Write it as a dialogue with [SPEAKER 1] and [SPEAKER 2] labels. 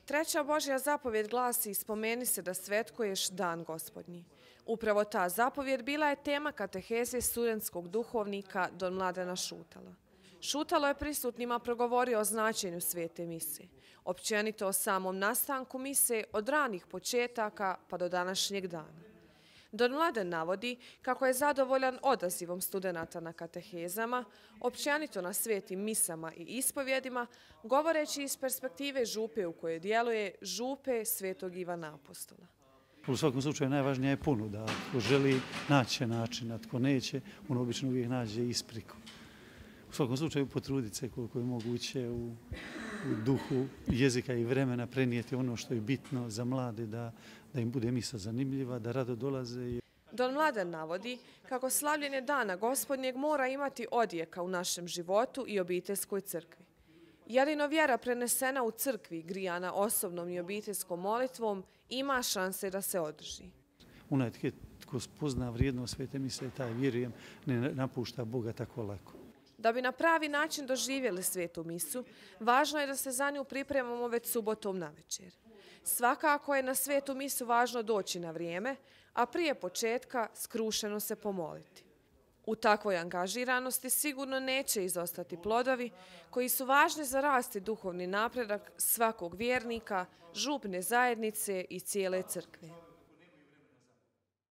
[SPEAKER 1] Treća Božja zapovjed glasi: spomeni se da svetkuješ dan Gospodnji. Upravo ta zapovjed bila je tema kateheze studentskog duhovnika don Mladena Šutala. Šutalo je prisutnima progovorio o značenju svete mise, općenito o samom nastanku mise od ranih početaka pa do današnjeg dana. Don Mladen navodi kako je zadovoljan odazivom studenata na katehezama, općenito na svetim misama i ispovjedima, govoreći iz perspektive župe u kojoj djeluje, župe Svetog Ivana Apostola.
[SPEAKER 2] U svakom slučaju najvažnija je ponuda. Ako želi, naći će način, a tko neće, on obično uvijek nađe ispriku. U svakom slučaju potruditi se koliko je moguće u duhu jezika i vremena prenijeti ono što je bitno za mlade, da im bude misa zanimljiva, da rado dolaze.
[SPEAKER 1] Don Mladen navodi kako slavljenje Dana Gospodnjeg mora imati odjeka u našem životu i obiteljskoj crkvi. Jedino vjera prenesena u crkvi, grijana osobnom i obiteljskom molitvom, ima šanse da se održi.
[SPEAKER 2] Onaj tko spozna vrijednost svete mise, taj, vjerujem, ne napušta Boga tako lako.
[SPEAKER 1] Da bi na pravi način doživjeli svetu misu, važno je da se za nju pripremamo već subotom navečer. Svakako je na svetu misu važno doći na vrijeme, a prije početka skrušeno se pomoliti. U takvoj angažiranosti sigurno neće izostati plodovi koji su važni za rast i duhovni napredak svakog vjernika, župne zajednice i cijele crkve.